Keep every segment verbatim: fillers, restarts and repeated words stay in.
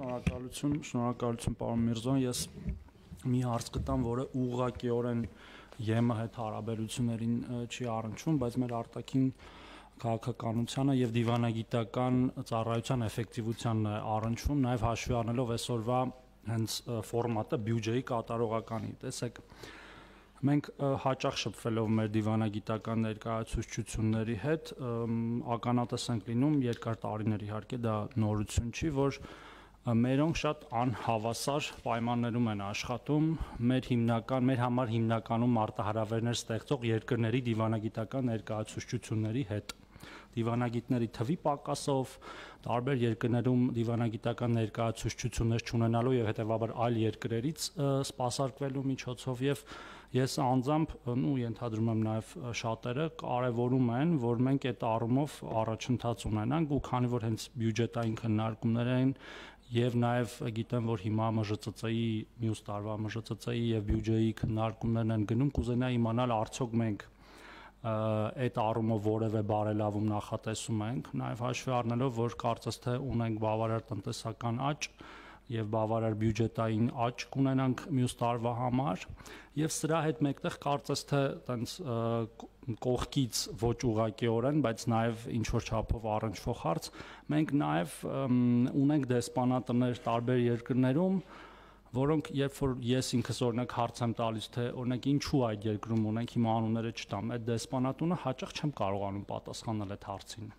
Շնորհակալություն, շնորհակալություն պարոն Միրզոյան, ես մի հարց գտամ, որը ուղղակիորեն ԵՄ հետ հարաբերություններին չի առնչվում, բայց մեր արտաքին քաղաքականությանը եւ դիվանագիտական ծառայության էֆեկտիվությանն է առնչվում, նաեւ հաշվի առնելով այսօրվա հենց ֆորմատը բյուջեի կատարողականի։ Տեսեք, մենք հաճախ շփվելով մեր դիվանագիտական ներկայացուցչությունների հետ ականատես ենք լինում երկար տարիներ, իհարկե դա նորություն չի, որ մերոնք շատ անհավասար պայմաններում են աշխատում մեր հիմնական, մեր համար հիմնականում մարտահրավերներ ստեղծող երկրների դիվանագիտական ներկայացուցչությունների հետ։ Դիվանագիտների թվի պակասով, տարբեր երկրներում դիվանագիտական ներկայացուցչություններ չունենալու եւ հետեւաբար այլ երկրերից սպասարկվելու միջոցով եւ ես անձամբ ու ենթադրում եմ նաեւ շատերը կարեւորում են, որ մենք այդ առումով առաջընթաց ունենանք ու քանի որ հենց բյուջետային քննարկումներ են եւ նաեւ գիտեմ, որ հիմա Մ Ժ Ծ Ծ-ի մյուս տարվա Մ Ժ Ծ Ծ-ի եւ բյուջեի քննարկումներն են գնում, կուզենայի իմանալ արդյոք մենք այդ առումով որևէ բարելավում նախատեսում ենք, նաև հաշվի առնելով, որ կարծես թե ունենք բավարար տնտեսական աճ եւ բավարար բյուջետային աճ կունենանք մյուս տարվա համար եւ սրա հետ մեկտեղ կարծես թե տենց կողքից ոչ ուղղակիորեն, բայց նաեւ ինչ որ չափով առնչվող հարց, մենք նաեւ ունենք դեսպանատներ տարբեր երկրներում, որոնք երբ որ ես ինքս օրինակ հարց եմ տալիս, թե օրինակ ինչու այդ երկրում ունենք, հիմա անունները չտամ, այդ դեսպանատունը հաճախ չեմ կարողանում պատասխանել այդ հարցին։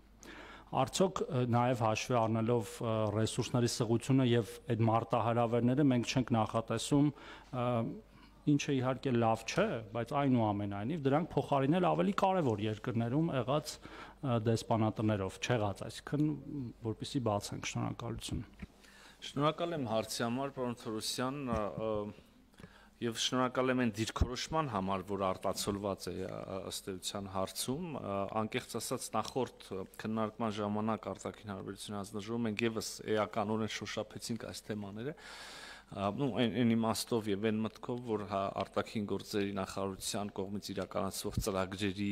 Արդյոք նաև հաշվի առնելով ռեսուրսների սղությունը եւ այդ մարտահրավերները մենք չենք նախատեսում, ինչը իհարկե լավ չէ, բայց այնուամենայնիվ դրանք փոխարինել ավելի կարևոր երկրներում եղած դեսպանատներով, չեղած, այսինքն որպեսզի բացենք, շնորհակալություն։ Շնորհակալ եմ հարցի համար, պարոն Թորոսյան, եւ շնորհակալ եմ այն դիրքորոշման համար, որ արտացոլված է ըստ էության հարցում, անկեղծ ասած նախորդ քննարկման ժամանակ արտաքին հարաբերությունների հանձնաժողովում մենք եւս էականորեն շոշափեցինք այս թեմաները, ну այն իմաստով եւ այն մտքով, որ արտաքին գործերի նախարարության կողմից իրականացվող ծրագրերի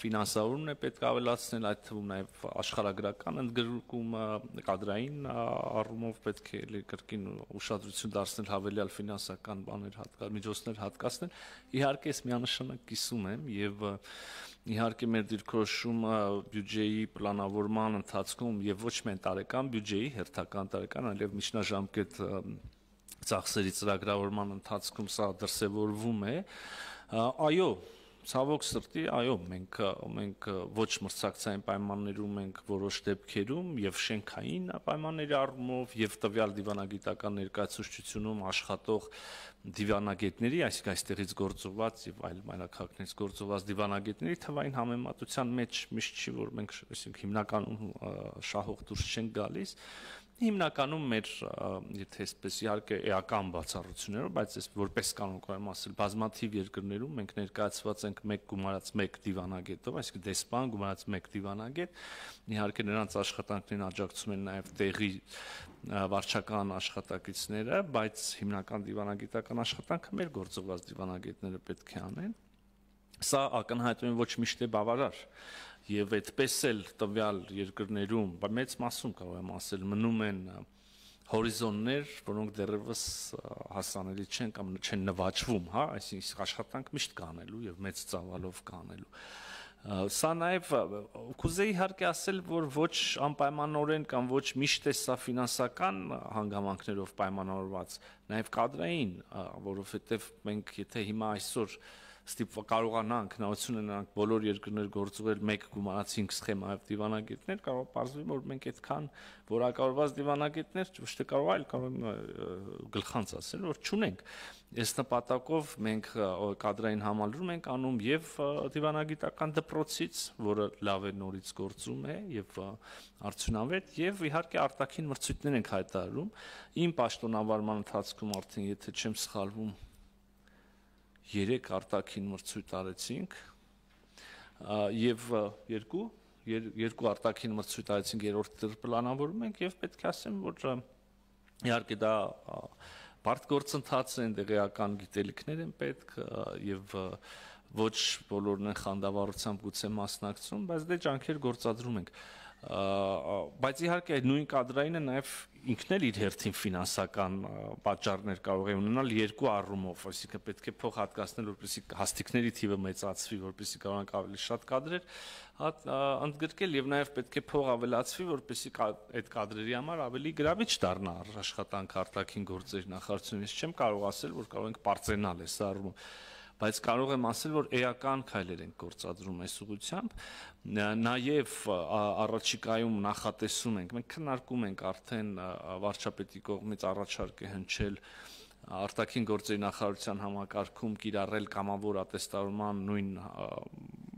ֆինանսավորումն է պետք ավելացնել, այդ թվում նաեւ աշխարհագրական ընդգրկումը, կադրային առումով պետք է կրկին ուշադրություն դարձնել հավելյալ ֆինանսական բաներ հատկացնել, միջոցներ հատկացնել։ Իհարկե ես միանշանակ կիսում եմ եւ իհարկե մեր դիրքորոշումը բյուջեի պլանավորման ընթացքում եւ ոչ միայն տարեկան բյուջեի, հերթական տարեկան, այլև միջնաժամկետ ծախսերի ծրագրավորման ընթացքում սա դրսևորվում է, այո, ցավոք սրտի, այո, մենք մենք ոչ մրցակցային պայմաններում ենք որոշ դեպքերում եւ շենքային պայմանների առումով եւ տվյալ դիվանագիտական ներկայացուցչությունում աշխատող դիվանագետների, այսինքն այստեղից գործված եւ այլ մայրաքաղաքներից գործված դիվանագետների թվային համեմատության մեջ միշտ չի, որ մենք այսինքն հիմնականում շահող դուրս չենք գալիս։ Հիմնականում մեր, եթե այսպես իհարկե էական բացառություններով, բայց ես որպես կանոն կարող եմ ասել, բազմաթիվ երկրներում մենք ներկայացված ենք մեկ գումարած մեկ դիվանագետով, այսինքն դեսպան գումարած մեկ դիվանագետ, իհարկե նրանց աշխատանքներին աջակցում են նաև տեղի վարչական աշխատակիցները, բայց հիմնական դիվանագիտական աշխատանքը մեր գործողված դիվանագետները պետք է անեն։ Սա ակնհայտորեն ոչ միշտ է բավարար եւ այդպես էլ տվյալ երկրներում, մեծ մասում կարող եմ ասել, մնում են հորիզոններ, որոնք դեռևս հասանելի չեն կամ չեն նվաճվում, հա, այսինքն աշխատանք միշտ կանելու եւ մեծ ծավալով կանելու։ Սա նաեւ կուզեի իհարկե ասել, որ ոչ անպայմանորեն կամ ոչ միշտ է սա ֆինանսական հանգամանքներով պայմանավորված, նաեւ կադրային, որովհետեւ մենք եթե հիմա այսօր ստիպ կարողանանք հնարավորություն ունենանք բոլոր երկրներ գործուղել մեկ գումարած հինգ սխեմայով դիվանագետներ, կարող պարզվի, որ մենք այդքան որակավորված դիվանագետներ ոչ թե կարող այլ կարող գլխանց ասել, որ չունենք։ Այս նպատակով մենք կադրային համալրում ենք անում եւ դիվանագիտական դպրոցից, որը լավ է նորից գործում է եւ արդյունավետ, եւ իհարկե արտաքին մրցույթներ ենք հայտարարում։ Իմ պաշտոնավարման ընթացքում արդեն եթե չեմ սխալվում երեք արտաքին մրցույթ արեցինք եւ երկու երկու արտաքին մրցույթ արեցինք, երրորդը պլանավորում ենք եւ պետք է ասեմ, որ իհարկե դա բարդ գործընթաց է, տեղեկան գիտելիքներ են պետք եւ ոչ բոլորն են խանդավառությամբ գուցե մասնակցում, բայց դե ջանքեր գործադրում ենք։ բայց իհարկե այդ նույն կադրայինը նաև ինքն էլ իր հերթին ֆինանսական պատճառներ կարող է ունենալ երկու առումով, այսինքն պետք է փող հատկացնել, որպեսզի հաստիկների թիվը մեծացվի, որպեսզի կարողանանք ավելի շատ կադրեր ընդգրկել եւ նաեւ պետք է փող ավելացվի, որպեսզի այդ կադրերի համար ավելի գրավիչ դառնա աշխատանք արտաքին գործերի նախարարությունից։ Ես չեմ կարող ասել, որ կարող ենք պարծենալ այս առումով, բայց կարող եմ ասել, որ էական քայլեր ենք գործադրում այս ուղղությամբ, նաև առաջիկայում նախատեսում ենք, մենք քննարկում ենք արդեն վարչապետի կողմից առաջարկ է հնչել արտաքին գործերի նախարարության համակարգում կիրառել կամավոր ատեստավորման նույն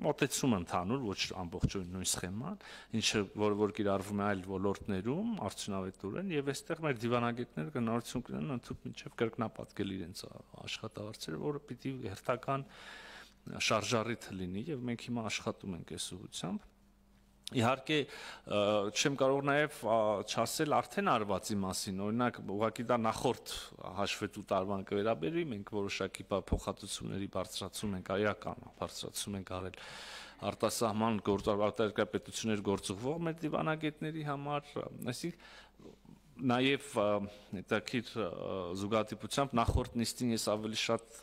մոտեցումը ընդհանուր, ոչ ամբողջովին նույն սխեման, ինչը որ որ կիրառվում է այլ ոլորտներում արդյունավետորեն եւ այստեղ մեր դիվանագետները գնահատություն կունենան ընդհանուր մինչեւ կրկնապատկել իրենց աշխատավարձերը, որը պիտի հերթական շարժառիթ լինի եւ մենք հիմա աշխատում ենք այս ուղղությամբ։ Իհարկե չեմ կարող նաև չասել արդեն արվածի մասին, օրինակ ուղղակի դա նախորդ հաշվետու տարվան կվերաբերի, մենք որոշակի փոխհատուցումների բարձրացում ենք, այական բարձրացում ենք արել արտասահման արտահերկրապետություններ գործուղվող մեր դիվանագետների համար, այսինքն նաև հետաքրքիր զուգադիպությամբ նախորդ նիստին ես ավելի շատ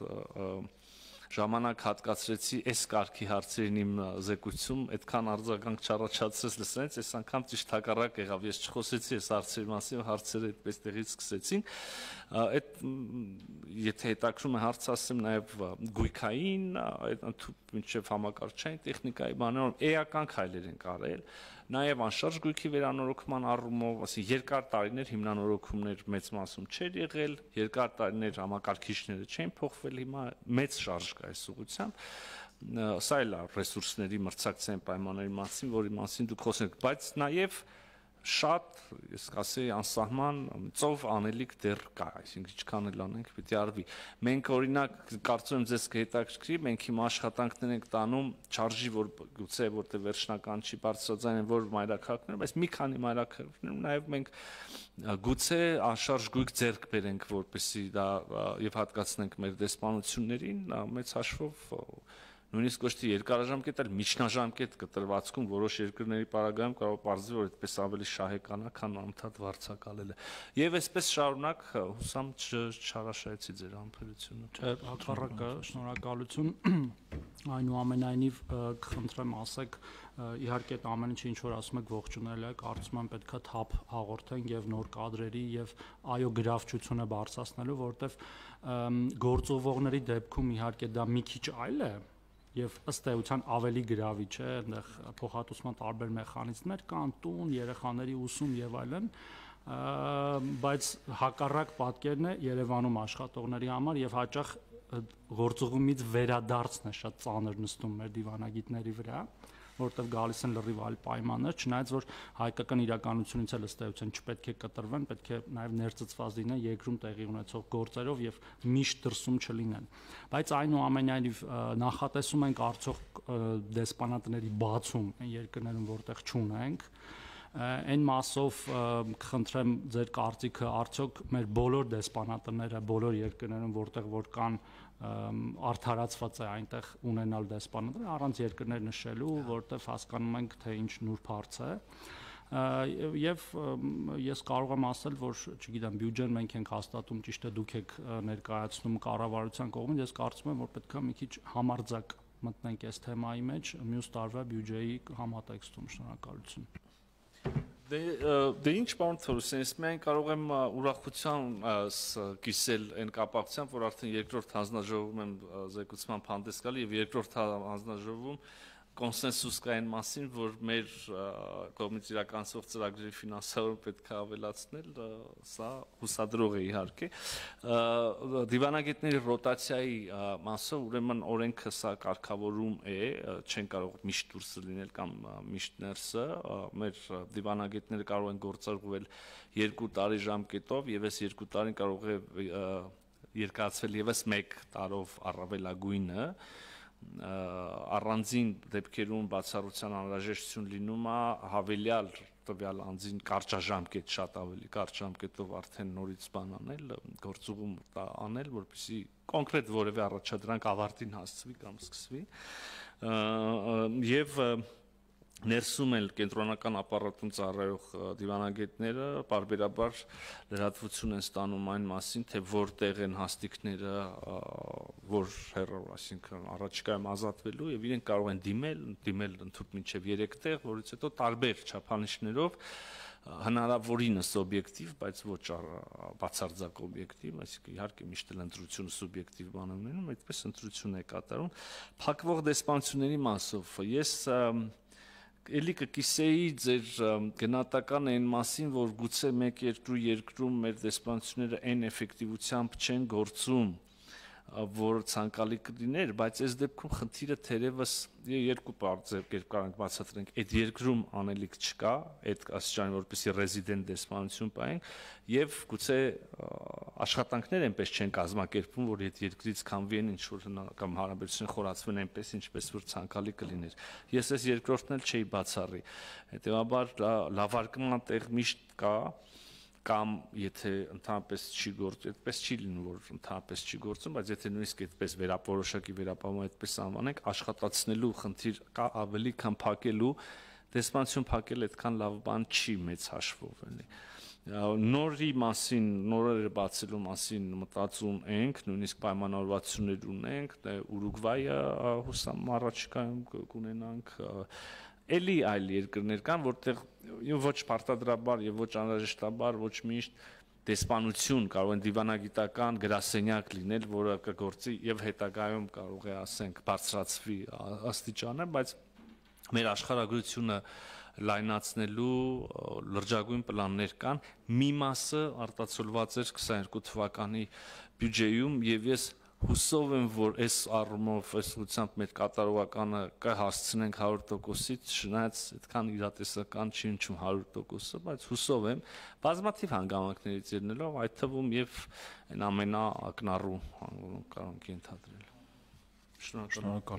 ժամանակ հատկացրեցի այս կարգի հարցերին իմ զեկույցում, այդքան արձագանք չառաջացրեց լսենց, այս անգամ ճիշտ հակառակ եղավ, ես չխոսեցի այս հարցերի մասին, հարցերը այդպես տեղից սկսեցին, այդ եթե հետաքրում է հարց ասեմ նաև գույքային, մինչև համակարգչային տեխնիկայի բաներում էական քայլեր են արել, նաև անշարժ գույքի վերանորոգման առումով, ասի երկար տարիներ հիմնանորոգումներ մեծ մասում չէր եղել, երկար տարիներ համակարգիչները չեն փոխվել, հիմա մեծ շարժ կա այս ուղղությամբ, սա էլ է ռեսուրսների մրցակցային պայմանների մասին, որի մասին դուք խոսեք, բայց նաև շատ, ես կասեի, անսահման ծով անելիք դեռ կա, այսինքն ինչքան էլ անենք պիտի արվի։ Մենք օրինակ կարծում եմ ձեզ կհետաքրքրի, մենք հիմա աշխատանքներ ենք տանում չարժի, որ գուցե որտեղ վերջնական չի բարձրաձայն են որ մայրաքաղաքներում, բայց մի քանի մայրաքաղաքներում նաև մենք գուցե անշարժ գույք ձեռք բերենք, որպեսզի դա եւ հատկացնենք մեր դեսպանություններին, մեծ հաշվով նույնիսկ ոչ թե երկարաժամկետ, այլ միջնաժամկետ կտրվածքում որոշ երկրների պարագայում կարող պարզվի, որ այդպես ավելի շահեկան է, քան անընդհատ վարձակալելը։ Եվ այսպես շարունակ հուսամ չհարաշայեցի ձեր համբերությունը։ Չէ, հակառակը, շնորհակալություն։ Այնուամենայնիվ կխնդրեմ ասեք, իհարկե այդ ամեն ինչը ինչ որ ասում եք ողջունել եք, կարծում եմ պետքա թափ հաղորդենք եւ նոր կադրերի եւ այո գրավչությունը բարձրացնելու, որովհետեւ գործողողների դեպքում իհարկե դա մի քիչ այլ է եւ ըստ էության ավելի գրավիչ է, այնտեղ փոխհատուցման տարբեր մեխանիզմներ կան, տուն, երեխաների ուսում եւ այլն, բայց հակառակ պատկերն է Երևանում աշխատողների համար եւ հաճախ գործողումից վերադարձն է շատ ծանր նստում մեր դիվանագիտների վրա, որտեղ գալիս են լրիվ այլ պայմաններ, չնայած որ հայկական իրականությունից էլ ըստ էության չպետք է կտրվեն, պետք է նաև ներծծված լինեն երկրում տեղի ունեցող գործերով եւ միշտ դրսում չլինեն։ Բայց այնուամենայնիվ նախատեսում ենք արդյոք դեսպանատների բացում այն երկրներում, որտեղ չունենք, այն մասով կխնդրեմ ձեր կարծիքը, արդյոք մեր բոլոր դեսպանատները բոլոր երկրներում, որտեղ որ կան արդարացված է այնտեղ ունենալ դեսպանատներ, առանց երկրներ նշելու, որտեղ հասկանում ենք, թե ինչ նուրբ հարց է, եւ ես կարող եմ ասել, որ չգիտեմ, բյուջեն մենք ենք հաստատում, ճիշտ է դուք եք ներկայացնում կառավարության կողմից, ես կարծում եմ, որ պետք է մի քիչ համարձակ մտնենք այս թեմայի մեջ, մյուս տարվա բյուջեի համատեքստում, շնորհակալություն։ Դե ինչ պարոն Թորոսյան, ես միայն կարող եմ ուրախության կիսել այն կապակցությամբ, որ արդեն երկրորդ հանձնաժողովում եմ զեկուցման հանդես գալի եւ երկրորդ հանձնաժողովում կոնսենսուս կա այն մասին, որ մեր կողմից իրականացվող ծրագրերի ֆինանսավորումը պետք է ավելացնել, սա հուսադրող է իհարկե։ Դիվանագետների ռոտացիայի մասով ուրեմն օրենքը սա կարգավորում է, չեն կարող միշտ դուրսը լինել կամ միշտ ներսը, մեր դիվանագետները կարող են գործարկվել երկու տարի ժամկետով եւ այս երկու տարին կարող է երկարացվել եւս մեկ տարով առավելագույնը, առանձին դեպքերում բացառության անհրաժեշտություն լինում է հավելյալ տվյալ անձին կարճաժամկետ, շատ ավելի կարճ ժամկետով արդեն նորից բան անել, գործուղում անել, որպեսզի կոնկրետ որևէ առաջադրանք ավարտին հասցվի կամ սկսվի, եւ ներսում էլ կենտրոնական ապարատում ծառայող դիվանագետները բարբերաբար լրատվություն են ստանում այն մասին, թե որտեղ են հաստիկները, որ հեռու, այսինքն առաջիկայում ազատվելու եւ իրենք կարող են դիմել, դիմել ընդհանուր մինչեւ երեք տեղ, որից հետո տարբեր չափանիշներով հնարավորինս օբյեկտիվ, բայց ոչ բացարձակ օբյեկտիվ, այսինքն իհարկե միշտ էլ ընտրությունը սուբյեկտիվ բան է ունենում, այդպես ընտրություն է կատարում, փակվող դեսպանությունների մասով ես Էլի կկիսեի ձեր գնահատականը այն մասին, որ գուցե մեկ երկու երկրում մեր դեսպանությունները այն էֆեկտիվությամբ չեն գործում, որ ցանկալի կլիներ, բայց այս դեպքում խնդիրը թերևս երկու բարձր կերպ կարող ենք բացատրենք, այդ երկրում անելիք չկա, այդ աստիճանի որպեսզի ռեզիդենտ դեսպանություն պահենք, եւ գուցե աշխատանքներ այնպես չեն կազմակերպվում, որ այդ երկրից քամվեն ինչ որ կամ հարաբերություն խորացվեն այնպես, ինչպես որ ցանկալի կլիներ։ Ես այս երկրորդն էլ չէի բացառի։ Հետեւաբար լավարկման տեղ միշտ կա կամ եթե ընդհանրապես չի գործում, այդպես չի լինում, որ ընդհանրապես չի գործում, բայց եթե նույնիսկ այդպես վերապորոշակի վերապահում այդպես անվանենք, աշխատացնելու խնդիր կա ավելի, քան փակելու, դեսպանություն փակել այդքան լավ բան չի մեծ հաշվով էլի։ Նորի մասին, նորերը բացելու մասին մտածում ենք, նույնիսկ պայմանավորվածություններ ունենք, Ուրուգվայը հուսամ առաջիկայում կունենանք, էլի այլ երկրներ կան, որտեղ ոչ պարտադրաբար եւ ոչ անհրաժեշտաբար ոչ միշտ դեսպանություն կարող են դիվանագիտական գրասենյակ լինել, որը կգործի եւ հետագայում կարող է ասենք բարձրացվի աստիճանը, բայց մեր աշխարհագրությունը լայնացնելու լրջագույն պլաններ կան, մի մասը արտացոլված էր քսաներկու թվականի բյուջեում եւ ես հուսով եմ, որ այս առումով, այս ուղղությամբ մեր կատարողականը կհասցնենք հարյուր տոկոսից, չնայած այդքան իրատեսական չի հնչում հարյուր տոկոսը, բայց հուսով եմ, բազմաթիվ հանգամանքներից ելնելով, այդ թվում եւ այն ամենաակնառու, որոնք կարող ենք ենթադրել։ Շնորհակալ։